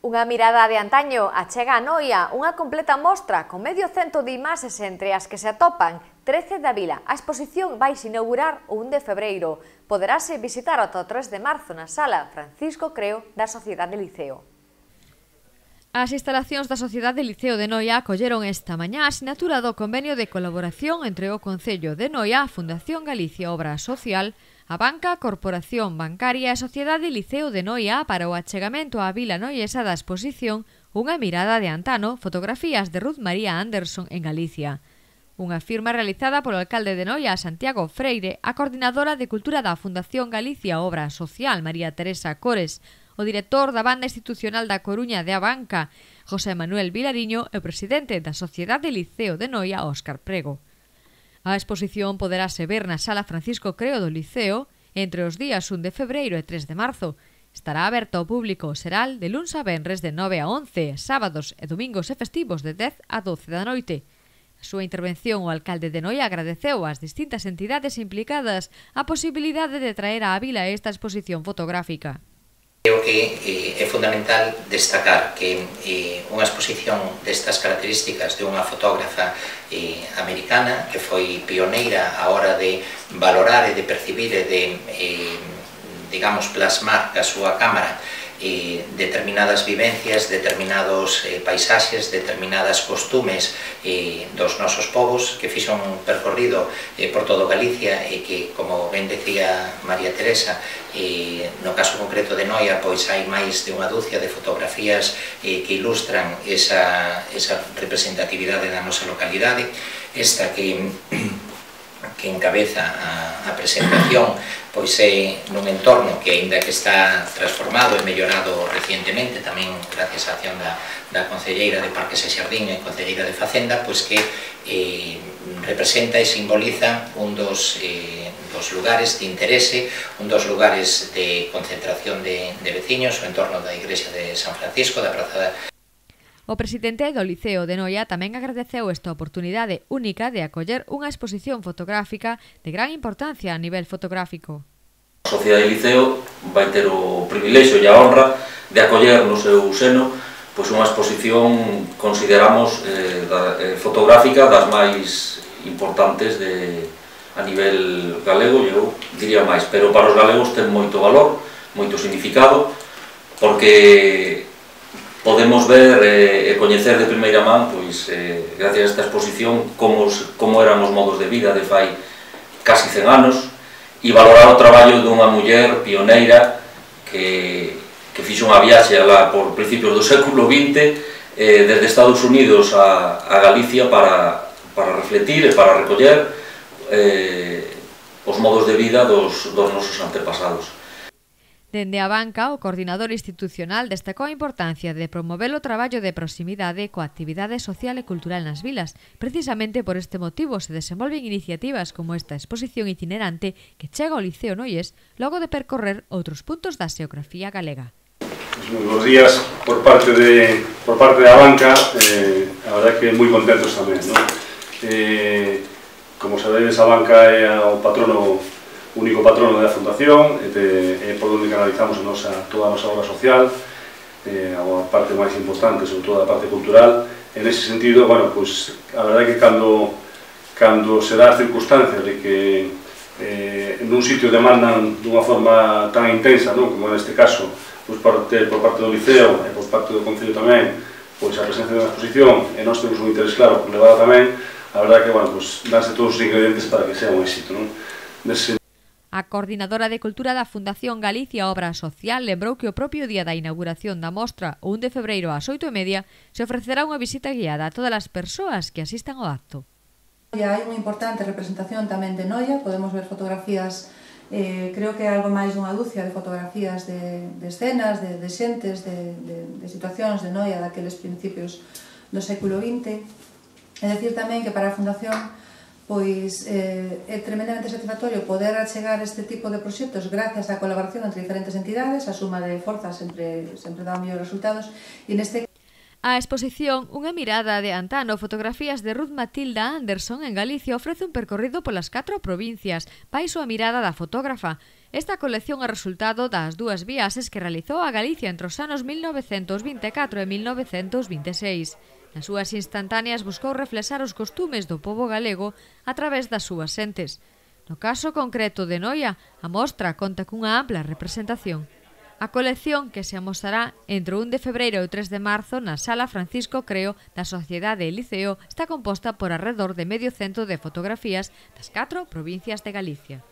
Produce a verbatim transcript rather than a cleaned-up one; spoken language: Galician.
Unha mirada de antaño achega a Noia unha completa mostra con medio cento de imaxes entre as que se atopan trece da vila. A exposición vai se inaugurar o un de febreiro. Poderase visitar ata o tres de marzo na sala Francisco Creo da Sociedade Liceo. As instalacións da Sociedade Liceo de Noia acolleron esta mañá a sinatura do convenio de colaboración entre o Concello de Noia, a Fundación Galicia Obra Social, a Banca, Corporación Bancaria e a Sociedade Liceo de Noia para o achegamento á vila noiesa da exposición Unha mirada de antano, fotografías de Ruth María Anderson en Galicia. Unha firma realizada polo alcalde de Noia, Santiago Freire, a coordinadora de Cultura da Fundación Galicia Obra Social, María Teresa Cores, o director da Banda Institucional da Coruña de a Banca, José Manuel Vilariño, e o presidente da Sociedade Liceo de Noia, Óscar Prego. A exposición poderase ver na sala Francisco Creo do Liceo entre os días un de febreiro e tres de marzo. Estará aberta ao público xeral de luns a venres de nove a once, sábados e domingos e festivos de dez a doce da noite. Na súa intervención, o alcalde de Noia agradeceu ás distintas entidades implicadas a posibilidade de traer á vila esta exposición fotográfica. Creo que eh, é fundamental destacar que eh, unha exposición destas características de unha fotógrafa eh, americana que foi pioneira a hora de valorar e de percibir e de, eh, digamos, plasmar a súa cámara eh, determinadas vivencias, determinados eh, paisaxes, determinadas costumes eh, dos nosos povos, que fixo un percorrido eh, por todo Galicia e que, como ben decía María Teresa, eh, no caso concreto de Noia, pois hai máis de unha dúcia de fotografías eh, que ilustran esa, esa representatividade da nosa localidade, esta que que encabeza a, a presentación, pois é nun entorno que, aínda que está transformado e mellorado recientemente, tamén gracias á acción da, da Concelleira de Parques e Xardín e Concelleira de Facenda, pois que eh, representa e simboliza un dos, eh, dos lugares de interese, un dos lugares de concentración de, de veciños, o entorno da Igrexa de San Francisco, da Praza da... O presidente do Liceo de Noia tamén agradeceu esta oportunidade única de acoller unha exposición fotográfica de gran importancia a nivel fotográfico. A Sociedade Liceo vai ter o privilexio e a honra de acoller no seu seno pois unha exposición, consideramos, eh, da, eh, fotográfica das máis importantes de, a nivel galego, eu diría máis, pero para os galegos ten moito valor, moito significado, porque podemos ver e eh, coñecer de primeira man, pois, eh, gracias a esta exposición, como, como eran os modos de vida de fai casi cen anos, e valorar o traballo dunha muller pioneira que, que fixo unha viaxe alá por principios do século vinte, eh, desde Estados Unidos a, a Galicia para, para refletir e para recoller eh, os modos de vida dos, dos nosos antepasados. Dende a Banca, o coordinador institucional destacou a importancia de promover o traballo de proximidade coa actividade social e cultural nas vilas. Precisamente por este motivo se desenvolven iniciativas como esta exposición itinerante que chega ao Liceo Noies logo de percorrer outros puntos da xeografía galega. Moi bons días por parte de por parte da Banca, eh, a verdade que moi contentos tamén, non? Eh, como sabedes, a Banca é o patrono único patrono da Fundación, é por onde canalizamos a nosa, toda a nosa obra social, eh, a parte máis importante, sobre todo a parte cultural. En ese sentido, bueno, pues, a verdade é que cando, cando se dá as circunstancias de que eh, nun sitio demandan dunha forma tan intensa, non? Como neste caso, pues, parte, por parte do Liceo e por parte do Concello tamén, pues, a presencia da exposición, e nós temos un interés claro por levada tamén, a verdade é que, bueno, pues, danse todos os ingredientes para que sea un éxito, non? Nese A coordinadora de Cultura da Fundación Galicia Obra Social lembrou que o propio día da inauguración da mostra, o un de febreiro ás oito e media, se ofrecerá unha visita guiada a todas as persoas que asistan ao acto. Hai unha importante representación tamén de Noia, podemos ver fotografías, eh, creo que é algo máis dunha dúcia de fotografías de, de escenas, de, de xentes, de, de, de situacións de Noia daqueles principios do século vinte. É dicir tamén que para a Fundación pois eh, é tremendamente satisfactorio poder achegar este tipo de proxectos gracias á colaboración entre diferentes entidades, a suma de forzas sempre, sempre dá mellores resultados, e neste A exposición Unha mirada de antano, fotografías de Ruth Matilda Anderson en Galicia ofrece un percorrido polas catro provincias, baixo a mirada da fotógrafa. Esta colección é resultado das dúas viaxes que realizou a Galicia entre os anos mil novecentos vinte e catro e mil novecentos vinte e seis. Nas súas instantáneas buscou reflexar os costumes do pobo galego a través das súas xentes. No caso concreto de Noia, a mostra conta cunha ampla representación. A colección, que se amosará entre o un de febreiro e o tres de marzo na Sala Francisco Creo da Sociedade Liceo, está composta por arredor de medio cento de fotografías das catro provincias de Galicia.